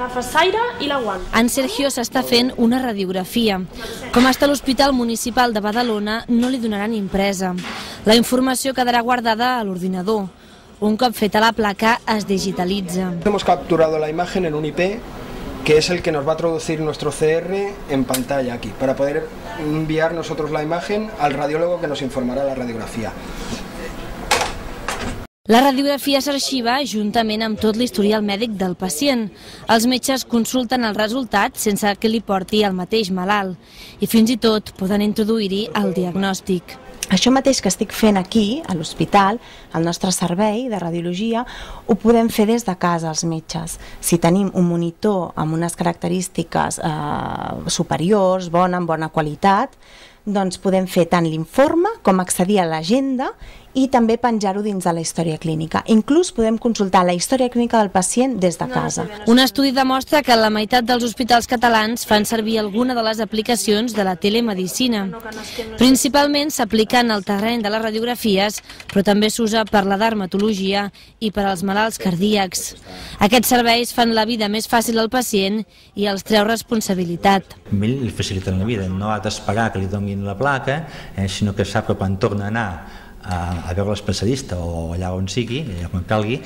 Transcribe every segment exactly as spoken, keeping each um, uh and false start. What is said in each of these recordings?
agafes l'aire i l'aguant. En Sergio s'està fent una radiografia. Com està a l'Hospital Municipal de Badalona, no li donaran impresa. La informació quedarà guardada a l'ordinador. Un cop feta la placa, es digitalitza. Hemos capturado la imagen en un I P que es el que nos va a traducir nuestro C R en pantalla aquí, para poder enviar nosotros la imagen al radiólogo que nos informará la radiografía. La radiografia s'arxiva juntament amb tot l'historial mèdic del pacient. Els metges consulten els resultats sense que li porti el mateix malalt i fins i tot poden introduir-hi el diagnòstic. Això mateix que estic fent aquí, a l'hospital, al nostre servei de radiologia, ho podem fer des de casa els metges. Si tenim un monitor amb unes característiques eh, superiors, bona, amb bona qualitat, doncs podem fer tant l'informe com accedir a l'agenda i també penjar-ho dins de la història clínica. Inclús podem consultar la història clínica del pacient des de casa. Un estudi demostra que la meitat dels hospitals catalans fan servir alguna de les aplicacions de la telemedicina. Principalment s'aplica en el terreny de les radiografies, però també s'usa per la dermatologia i per als malalts cardíacs. Aquests serveis fan la vida més fàcil al pacient i els treu responsabilitat. A ell li faciliten la vida, no ha d'esperar que li donin la placa, eh, sinó que sap que quan torna a anar a, a veure l'especialista o allà on sigui, allà on calgui,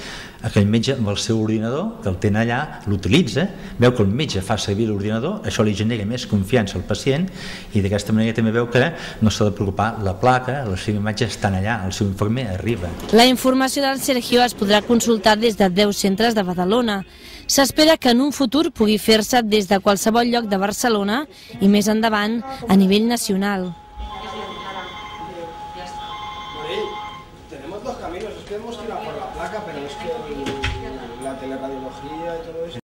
aquell metge amb el seu ordinador, que el tenen allà, l'utilitza, veu que el metge fa servir l'ordinador, això li genera més confiança al pacient i d'aquesta manera també veu que no s'ha de preocupar la placa, les seves imatges estan allà, el seu informe arriba. La informació del Sergio es podrà consultar des de deu centres de Badalona. S'espera que en un futur pugui fer-se des de qualsevol lloc de Barcelona i més endavant a nivell nacional. Tenemos dos caminos, es que hemos tirado por la placa, pero es que la teleradiología y todo eso...